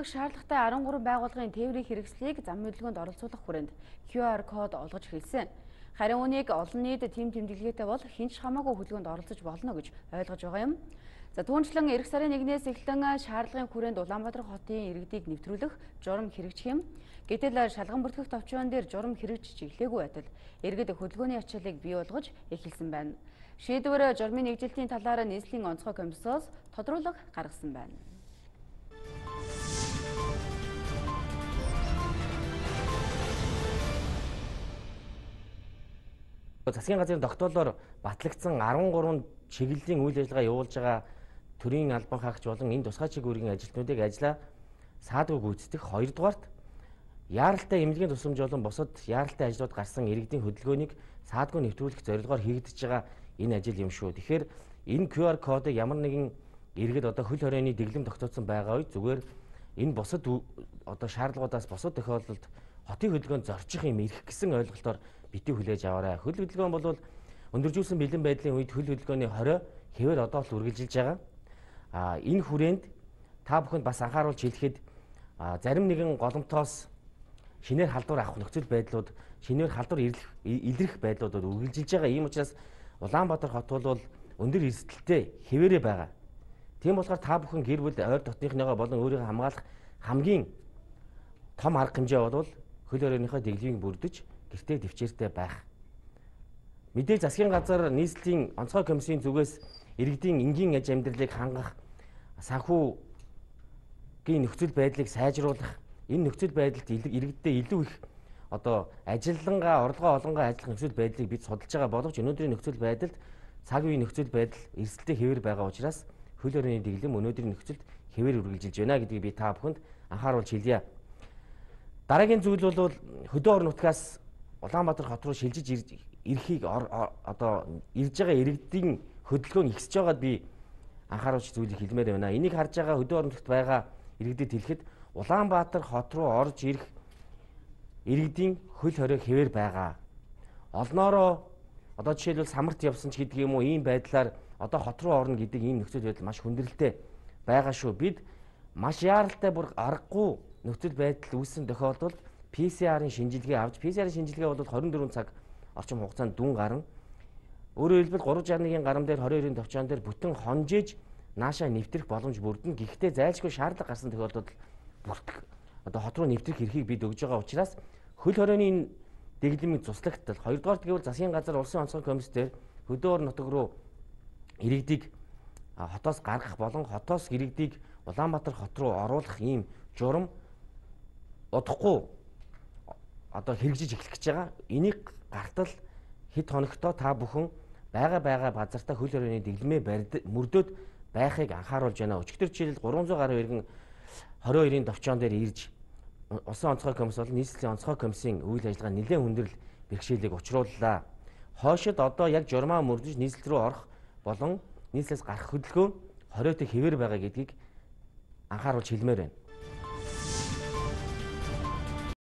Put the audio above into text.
Шаардлагатай 13 байгууллагын тээврийн хэрэгслийг зам хөдөлгөөнд оролцуулах хүрээнд QR код олгож хэлсэн. Харин үүнийг олон нийт тэм тэмдэглэгээтэй бол хинч хамаагүй хөдөлгөөнд оролцож болно гэж ойлгож байгаа юм. За түүнчлэн эх сарын 1-ээс эхлэн шаардлагын хүрээнд Улаанбаатар хотын иргэдийг нэвтрүүлэх журам хэрэгжих юм. Гэтэл шалган бүртгэх товчон дээр журам хэрэгжиж эхлээгүй байтал иргэд хөдөлгөөний ачааллыг бий болгож эхэлсэн байна. Шийдвэр журмын нэгжилтийн талаар нийслэлийн онцгой комиссоос тодруулга гаргасан байна. Засгийн газрын тогтоолоор батлагдсан 13 чиглэлийн үйл ажиллагаа явуулж байгаа төрийн албан хаагч болон энэ тусгай чиглэлийн ажилтнуудыг ажиллаа саадгүй гүйцэтгэх 2-дугаарт яаралтай эмнэлгийн тусламж болон бусад яаралтай ажлууд гарсан иргэдийн хөдөлгөөнийг саадгүй нэвтрүүлэх зорилгоор хийгдэж байгаа энэ ажил юм шүү. Тэгэхээр энэ QR кодыг ямар нэгэн иргэд одоо хөл хорионы дэглэм тогтоосон байгаа үед зүгээр энэ бусад одоо шаардлагуудаас бусад тохиолдолд хотын хөдөлгөөнд зорчих юм ирэх гэсэн ойлголтоор битгий хүлээж аваарай. Хөл хөдөлгөөн бол өндөржүүлсэн бэлэн байдлын үед хөл хөдөлгөөний хорой хэвээр одоо л үргэлжилж байгаа. Энэ хүрээнд та бүхэнд бас анхааруулж хэлэхэд зарим нэгэн голомтоос шинээр халдвар авах нөхцөл байдлууд, шинээр халдвар илрэх байдлуудад үргэлжилж байгаа. Ийм учраас Улаанбаатар хот бол өндөр эрсдэлтэй хэвээрээ байгаа. Тийм болохоор та бүхэн гэр бүл ойр дотныхныгоо болон өөрийгөө хамгаалах хамгийн том арга хэмжээ бол хөл хорионыхоо дэглэмийг бүрдэж гэртээ дэвчээртэй байх. Мэдээж засгийн газар нийслэлийн онцгой комиссийн зүгээс иргэдийн энгийн аж амьдралыг хангах, санхүүгийн нөхцөл байдлыг сайжруулах, энэ нөхцөл байдалд иргэддээ илүү их одоо ажиллангаа, орлогоо олонгоо ажиллах нөхцөл байдлыг бид судалж байгаа боловч өнөөдрийн нөхцөл байдалд цаг үеийн нөхцөл байдал эрсдэлтэй хэвээр байгаа учраас хөл хорионы дэглэм өнөөдрийн нөхцөлд хэвээр үргэлжилж байна гэдгийг би та бүхэнд анхааруулж хэлье. Дараагийн зүйл бол хөдөө орон нутгаас Улаанбаатар хот руу шилжиж ирэхийг одоо ирж байгаа иргэдийн хөдөлгөөн ихсэж байгаад би анхааруулж зүйлийг хэлмээр байна. Энийг харж байгаа хөдөө орон нутгад байгаа иргэдэд хэлэхэд Улаанбаатар хот руу орж ирэх иргэдийн хөл хорой хэвээр байгаа. Олноороо одоо жишээлбэл самарт явсан ч гэдэг юм уу ийм байдлаар одоо хот руу орно гэдэг ийм нөхцөл байдал маш хүндрэлтэй байгаа шүү. Бид маш яаралтай бүр аргагүй нөхцөл байдал үүссэн тохиолдолд PCR-ын шинжилгээ авч PCR-ын шинжилгээ бол 24 цаг орчим хугацаанд дүн гарна. Өөрөөр хэлбэл 361-ийн гарам дээр 22-ын товчон дээр бүтэн хонжиж наашаа нэвтрэх боломж бүрдэнэ. Гэхдээ зайлшгүй шаардлага гарсан тохиолдолд бүртгэх одоо хот руу нэвтрэх эрхийг бид өгж байгаа учраас хөл хорионы дэглэмийг цуслагтал 2-дугаар гэвэл засгийн газар улсын онцгой комисс дээр хөдөө орон нутаг руу иргэдийг хотоос гаргах болон хотоос иргэдийг Улаанбаатар хот руу оруулах ийм журам удахгүй одоо хэрэгжиж эхлэх гэж байгаа. Энийг гартал хэд хоногтоо та бүхэн байгаа базартаа хөл хорионы дэглэмээ мөрдөөд байхыг анхааруулж байна. Өчигдөр жишээлбэл 300 гаруй иргэн 22-ын товчон дээр ирж улсын онцгой комисс болон нийслэлийн онцгой комиссийн үйл ажиллагаа нэлээд хүндрэл бэрхшээлийг учрууллаа. Хойшид одоо яг журмаа мөрдөж нийслэл рүү орох болон нийслэлээс гарах хөдөлгөөн хоройтой хэвээр байгаа гэдгийг анхааруулж хэлмээр байна.